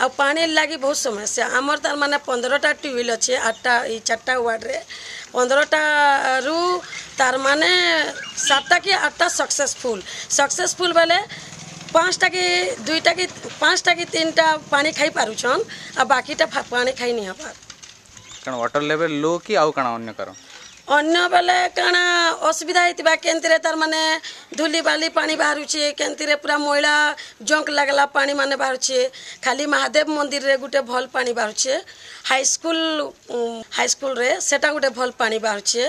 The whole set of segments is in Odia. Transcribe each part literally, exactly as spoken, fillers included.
ଆଉ ପାଣି ଲାଗି ବହୁତ ସମସ୍ୟା ଆମର ତାର ମାନେ ପନ୍ଦରଟା ଟ୍ୟୁବୱେଲ୍ ଅଛି ଆଠଟା ଏଇ ଚାରିଟା ୱାର୍ଡ଼ରେ ପନ୍ଦରଟାରୁ ତାର ମାନେ ସାତଟା କି ଆଠଟା ସକ୍ସେସଫୁଲ୍ ସକ୍ସେସଫୁଲ୍ ବେଲେ ପାଞ୍ଚଟା କି ଦୁଇଟା କି ପାଞ୍ଚଟା କି ତିନିଟା ପାଣି ଖାଇ ପାରୁଛନ୍ ଆଉ ବାକିଟା ପାଣି ଖାଇ ନି ହେବାର୍ କାରଣ ୱାଟର ଲେଭେଲ୍ ଲୋ କି ଆଉ କାଣା ଅନ୍ୟ କାରଣ ଅନ୍ୟ ବେଲେ କାଣା ଅସୁବିଧା ହେଇଥିବା କେନ୍ତିରେ ତାର ମାନେ ଧୂଲି ବାଲି ପାଣି ବାହାରୁଛେ କେନ୍ତିରେ ପୁରା ମଇଳା ଜଙ୍କ ଲାଗଲା ପାଣି ମାନେ ବାହାରୁଛେ ଖାଲି ମହାଦେବ ମନ୍ଦିରରେ ଗୋଟେ ଭଲ ପାଣି ବାହାରୁଛେ ହାଇସ୍କୁଲ ହାଇସ୍କୁଲରେ ସେଟା ଗୋଟେ ଭଲ ପାଣି ବାହାରୁଛେ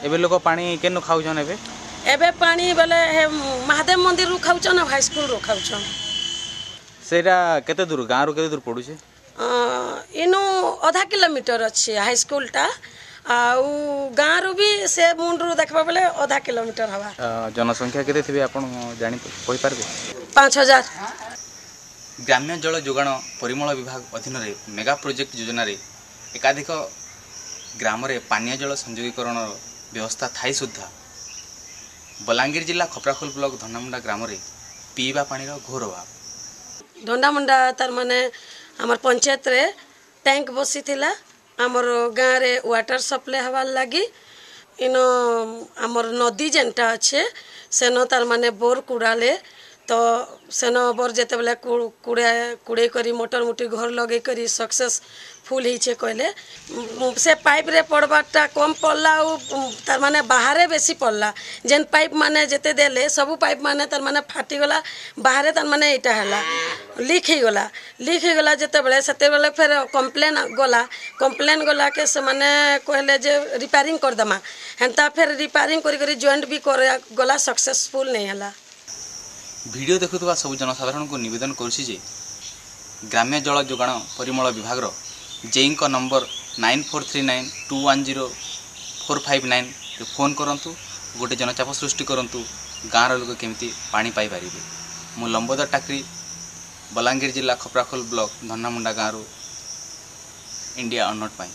ଏବେ ଲୋକ ପାଣି କେନୁ ଖାଉଛନ୍ ଏବେ ଏବେ ପାଣି ବେଲେ ହେ ମହାଦେବ ମନ୍ଦିରରୁ ଖାଉଛନ୍ ଆଉ ହାଇସ୍କୁଲରୁ ଖାଉଛନ୍ ସେଇଟା କେତେ ଦୂର ଗାଁରୁ କେତେ ଦୂର ପଡୁଛି ଇନୁ ଅଧା କିଲୋମିଟର ଅଛି ହାଇସ୍କୁଲଟା ଆଉ ଗାଁରୁ ବି ସେ ମୁଣ୍ଡରୁ ଦେଖିବା ବେଲେ ଅଧା କିଲୋମିଟର ହେବା ଜନସଂଖ୍ୟା କେତେ ଥିବେ ଆପଣ ଜାଣି କହିପାରିବେ ପାଞ୍ଚ ହଜାର ଗ୍ରାମ୍ୟ ଜଳ ଯୋଗାଣ ପରିମଳ ବିଭାଗ ଅଧୀନରେ ମେଗା ପ୍ରୋଜେକ୍ଟ ଯୋଜନାରେ ଏକାଧିକ ଗ୍ରାମରେ ପାନୀୟ ଜଳ ସଂଯୋଗୀକରଣର ବ୍ୟବସ୍ଥା ଥାଇ ସୁଦ୍ଧା ବଲାଙ୍ଗୀର ଜିଲ୍ଲା ଖପ୍ରାଖୋଲ ବ୍ଲକ ଧଣ୍ଡାମୁଣ୍ଡା ଗ୍ରାମରେ ପିଇବା ପାଣିର ଘୋର ଅଭାବ ଧଣ୍ଡାମୁଣ୍ଡା ତାର ମାନେ ଆମର ପଞ୍ଚାୟତରେ ଟ୍ୟାଙ୍କ ବସିଥିଲା ଆମର ଗାଁରେ ୱାଟର ସପ୍ଲାଏ ହେବାର୍ ଲାଗି ଇନ ଆମର ନଦୀ ଯେନ୍ଟା ଅଛେ ସେନ ତାର ମାନେ ବୋର୍ କୁଡ଼ାଲେ ତ ସେନ ବୋର୍ ଯେତେବେଲେ କୁଡ଼ା କୁଡ଼େଇ କରି ମୋଟର ମୁଟି ଘର ଲଗେଇ କରି ସକ୍ସେସଫୁଲ୍ ହେଇଛେ କହିଲେ ସେ ପାଇପ୍ରେ ପଡ଼ବାରଟା କମ୍ ପଡ଼ଲା ଆଉ ତାର ମାନେ ବାହାରେ ବେଶୀ ପଡ଼ଲା ଯେନ୍ ପାଇପ୍ ମାନେ ଯେତେ ଦେଲେ ସବୁ ପାଇପ୍ ମାନେ ତାର ମାନେ ଫାଟିଗଲା ବାହାରେ ତାର ମାନେ ଏଇଟା ହେଲା ଲିକ୍ ହେଇଗଲା ଲିକ୍ ହେଇଗଲା ଯେତେବେଳେ ସେତେବେଳେ ଫେର କମ୍ପ୍ଲେନ୍ ଗଲା କମ୍ପ୍ଲେନ୍ ଗଲାକେ ସେମାନେ କହିଲେ ଯେ ରିପେୟାରିଂ କରିଦେମା ହେନ୍ତା ଫେର୍ ରିପେୟାରିଂ କରି କରି ଜଏଣ୍ଟ ବି ଗଲା ସକ୍ସେସଫୁଲ୍ ନେଇ ହେଲା ଭିଡ଼ିଓ ଦେଖୁଥିବା ସବୁ ଜନସାଧାରଣଙ୍କୁ ନିବେଦନ କରୁଛି ଯେ ଗ୍ରାମ୍ୟ ଜଳ ଯୋଗାଣ ପରିମଳ ବିଭାଗର ଜେଇଙ୍କ number nine four three nine two one zero four five nine phone କରନ୍ତୁ ଗୋଟେ ଜନଚାପ ସୃଷ୍ଟି କରନ୍ତୁ ଗାଁର ଲୋକ କେମିତି ପାଣି ପାଇପାରିବେ ମୁଁ ଲମ୍ବୋଦର ଟାକ୍ରି ବଲାଙ୍ଗୀର ଜିଲ୍ଲା ଖପ୍ରାଖୋଲ ବ୍ଲକ ଧନ୍ନାମୁଣ୍ଡା ଗାଁରୁ ଇଣ୍ଡିଆ ଅନନୋଟ୍ ପାଇଁ